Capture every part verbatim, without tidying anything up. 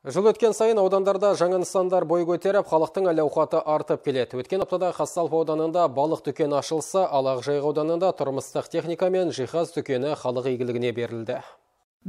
Жыл өткен сайын аудандарда жаңа нысандар бой көтеріп, халықтың әл-ауқаты артып келеді. Өткен аптада Қазталов ауданында балық дүкені ашылса, ал Ақжайық ауданында тұрмыстық техника мен жиһаз дүкені халық игілігіне берілді.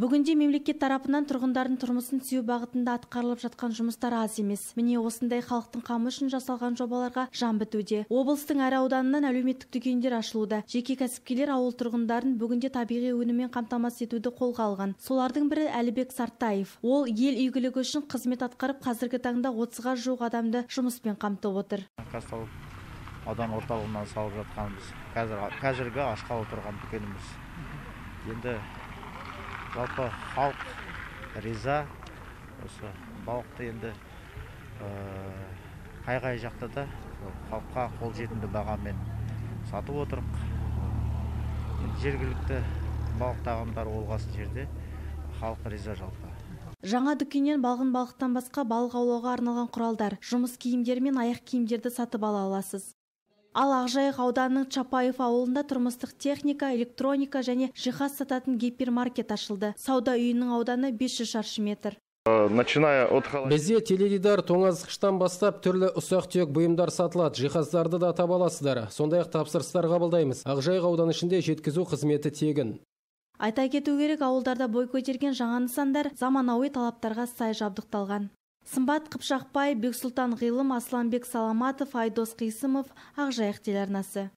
Бүгінде мемлекет тарапынан тұрғындардың тұрмысын түзеу бағытында атқарылып жатқан жұмыстар аз емес. Міне осындай халықтың қамы үшін жасалған жобаларға жан бітуде. Облыстың әр ауданынан әлеуметтік дүкендер ашылуда. Жеке кәсіпкерлер ауыл тұрғындарын бүгінде табиғи өніммен қамтамасыз етуді қолға алған. Солардың бірі Әлібек Сартаев. Ол ел игілігі үшін қызмет атқарып, қазіргі таңда отызға жуық адамды жұмыспен қамтып отыр. Қазталов аудан орталығынан салып жатқанбыз. Қазір қазіргі ашқалы тұрған дүкеніміз. Енді жалпы халық риза, осы балықты енді қай-қай жақта да халыққа қолжетімді бағамен сатып отырық. Жергілікті балық тағамдары олғасын жерде халық риза жалпы. Жаңа дүкеннен балғын балықтан басқа балық аулауға арналған құралдар, жұмыс киімдері мен аяқ киімдерді сатып ала аласыз. Ал Ақжайық ауданының Чапаев ауылында тұрмыстық техника, электроника және жиһаз сататын гипермаркет ашылды. Сауда үйінің ауданы бес жүз шаршы метр. Бізде теледидар, тоңазытқыштан бастап түрлі ұсақ-түйек бұйымдар сатылады, жиһаздарды да таба аласыздар. Сондай-ақ тапсырыстар қабылдаймыз. Ақжайық ауданы ішінде жеткізу қызметі тегін. Айта кету керек, ауылдарда бой көтерген жаңа нысандар заманауи талаптарға сай жабдықталған. Сымбат Қыпшақбай, Бексұлтан Ғилым, Асланбек Саламатов, Айдос Қисымов, Ақжайық телеарнасы.